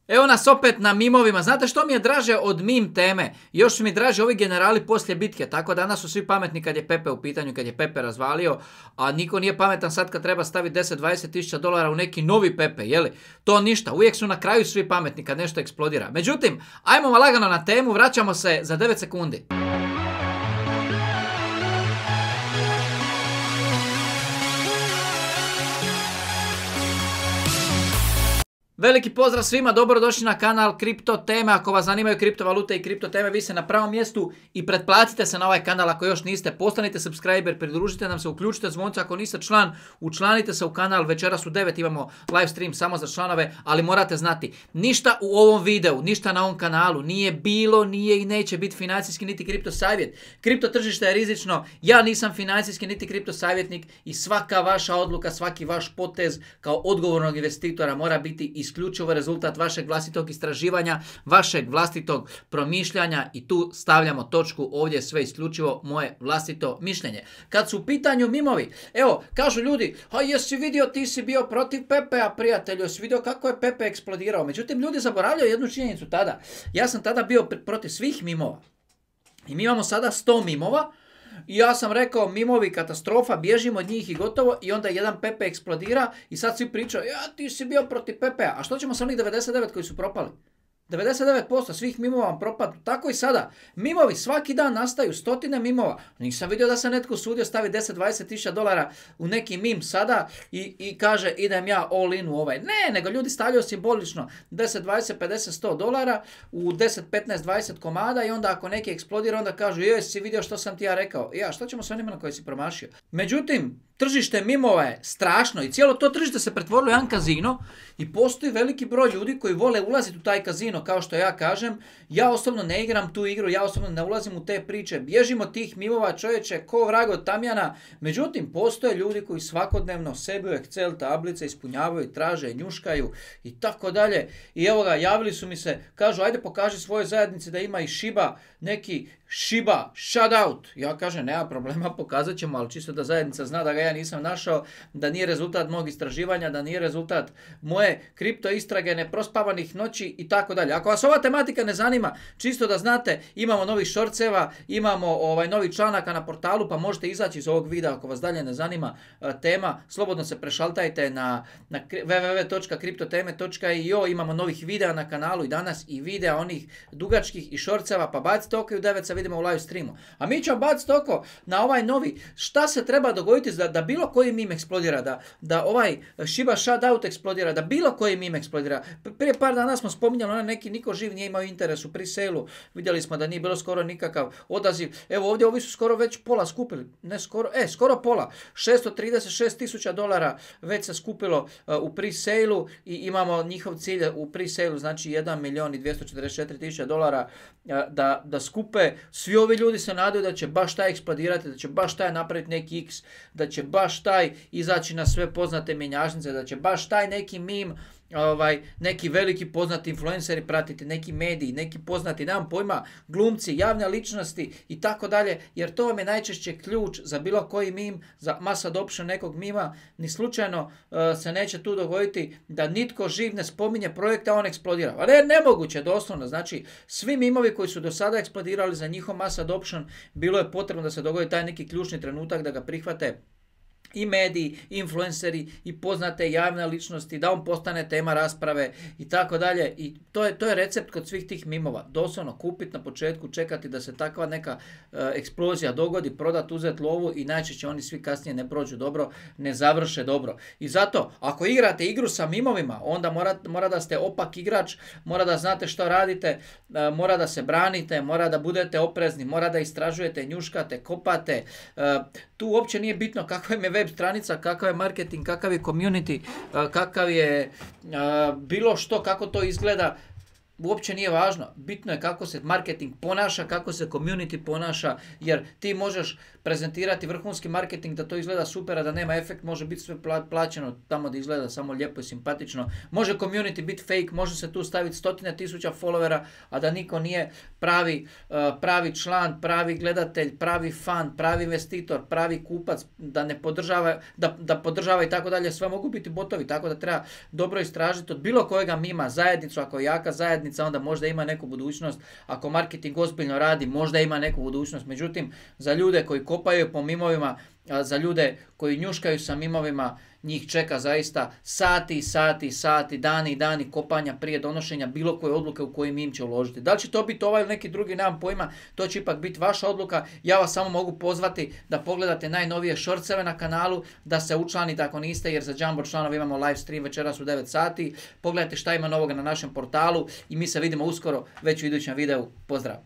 Evo nas opet na mimovima. Znate što mi je draže od mim teme? Još su mi draže ovi generali poslije bitke. Tako danas su svi pametni kad je Pepe u pitanju, kad je Pepe razvalio. A niko nije pametan sad kad treba staviti 10-20 tisuća dolara u neki novi Pepe. Jeli? To ništa. Uvijek su na kraju svi pametni kad nešto eksplodira. Međutim, ajmo lagano na temu. Vraćamo se za 9 sekundi. Veliki pozdrav svima, dobrodošli na kanal Kripto Teme. Ako vas zanimaju kriptovalute i kripto teme, vi ste na pravom mjestu i pretplatite se na ovaj kanal ako još niste. Postanite subscriber, pridružite nam se, uključite zvonce ako niste član, učlanite se u kanal. Večeras u 9 imamo live stream samo za članove, ali morate znati, ništa u ovom videu, ništa na ovom kanalu nije bilo, nije i neće biti financijski niti kripto savjet. Kripto tržište je rizično, ja nisam financijski niti kripto savjetnik i svaka vaša odluka, svaki vaš potez kao odgovornog investitora mora biti isključivo rezultat vašeg vlastitog istraživanja, vašeg vlastitog promišljanja i tu stavljamo točku, ovdje je sve isključivo moje vlastito mišljenje. Kad su u pitanju mimovi, evo, kažu ljudi, a jesi vidio, ti si bio protiv Pepea, prijatelju, jesi vidio kako je Pepe eksplodirao. Međutim, ljudi zaboravljaju jednu činjenicu tada. Ja sam tada bio protiv svih mimova. I mi imamo sada 100 mimova. I ja sam rekao, mimovi katastrofa, bježimo od njih i gotovo. I onda jedan Pepe eksplodira i sad svi pričaju, ja ti si bio protiv Pepea. A što ćemo sa onih 99 koji su propali? 99% svih mimova vam propadnu. Tako i sada. Mimovi svaki dan nastaju, stotine mimova. Nisam vidio da se netko usudio stavi 10-20 tisuća dolara u neki mim sada i kaže idem ja all in u ovaj. Ne, nego ljudi stavljaju simbolično 10, 20, 50, 100 dolara u 10, 15, 20 komada i onda ako neki eksplodira onda kažu jesi vidio što sam ti ja rekao. Ja, što ćemo s onima na koje si promašio? Međutim, tržište mimova je strašno i cijelo to tržište se pretvorilo u jedan kazino i postoji veliki broj ljudi koji vole ulaziti u taj kazino, kao što ja kažem. Ja osobno ne igram tu igru, ja osobno ne ulazim u te priče, bježim od tih mimova, čovječe, ko vrag od tamjana. Međutim, postoje ljudi koji svakodnevno sebi u Excel tablice ispunjavaju, traže, njuškaju i tako dalje. I evo ga, javili su mi se, kažu ajde pokaži svojoj zajednici da ima i Shiba, neki Shiba, shoutout. Ja kažem, nema problema, pokazat ćemo, ali čisto da zajednica zna da ga ja nisam našao, da nije rezultat mog istraživanja, da nije rezultat moje kripto istrage, neprospavanih noći i tako dalje. Ako vas ova tematika ne zanima, čisto da znate, imamo novih shortseva, imamo novih članaka na portalu, pa možete izaći iz ovog videa ako vas dalje ne zanima tema. Slobodno se prešaltajte na www.kriptoteme.io, imamo novih videa na kanalu i danas i videa onih dugačkih i shortseva, pa bacite oko i u 9 se vidimo u live streamu. A mi ćemo baciti oko na ovaj novi. Šta se treba dogoditi da bilo koji mim eksplodira, da ovaj Shiba shoutout eksplodira, da bilo koji mim eksplodira. Prije par dana smo spominjali, neki niko živ nije imao interes u pre-sale-u. Vidjeli smo da nije bilo skoro nikakav odaziv. Evo ovdje ovi su skoro već pola skupili. Ne skoro, skoro pola. 636 tisuća dolara već se skupilo u pre-sale-u i imamo njihov cilj u pre-sale-u, znači 1 milijon i 244 tisuća dolara da skupe. Svi ovi ljudi se nadaju da će baš taj eksplodirati, da će baš taj napraviti neki X, da će baš taj izaći na sve poznate mjenjačnice, da će baš taj neki mim, neki veliki poznati influenceri pratiti, neki mediji, neki poznati, nemam pojma, glumci, javne ličnosti i tako dalje, jer to vam je najčešće ključ za bilo koji mim, za mass adoption nekog mima. Ni slučajno se neće tu dogoditi da nitko živ ne spominje projekte, a on eksplodira. Ali je nemoguće, doslovno. Znači, svi mimovi koji su do sada eksplodirali za njihov mass adoption, bilo je potrebno da se dogodi taj neki ključni trenutak da ga prihvate i mediji, i influenceri, i poznate javne ličnosti, da on postane tema rasprave i tako dalje. I to je recept kod svih tih mimova. Doslovno kupiti na početku, čekati da se takva neka eksplozija dogodi, prodati, uzeti lovu i najčešće oni svi kasnije ne prođu dobro, ne završe dobro. I zato, ako igrate igru sa mimovima, onda mora da ste opak igrač, mora da znate što radite, mora da se branite, mora da budete oprezni, mora da istražujete, njuškate, kopate. Tu uopće nije bitno kakva im je web stranica, kakav je marketing, kakav je community, kakav je bilo što, kako to izgleda. uopće nije važno. Bitno je kako se marketing ponaša, kako se community ponaša, jer ti možeš prezentirati vrhunski marketing da to izgleda super, a da nema efekt, može biti sve plaćeno tamo da izgleda samo lijepo i simpatično. Može community biti fake, može se tu staviti 100.000 followera, a da niko nije pravi član, pravi gledatelj, pravi fan, pravi investitor, pravi kupac, da ne podržava, da podržava i tako dalje. Sve mogu biti botovi, tako da treba dobro istražiti od bilo kojega mima zajednicu. Ako je jaka zajednica, onda možda ima neku budućnost. Ako marketing ozbiljno radi, možda ima neku budućnost. Međutim, za ljude koji kopaju po mimovima, za ljude koji njuškaju sa mimovima, njih čeka zaista sati, dani i dani kopanja prije donošenja bilo koje odluke u koji mim će uložiti. Da li će to biti ovaj ili neki drugi, nemam pojma, to će ipak biti vaša odluka. Ja vas samo mogu pozvati da pogledate najnovije shortseve na kanalu, da se učlanite ako niste, jer za Jumbo članove imamo live stream večeras u 9 sati. Pogledajte šta ima novoga na našem portalu i mi se vidimo uskoro već u idućem videu. Pozdrav!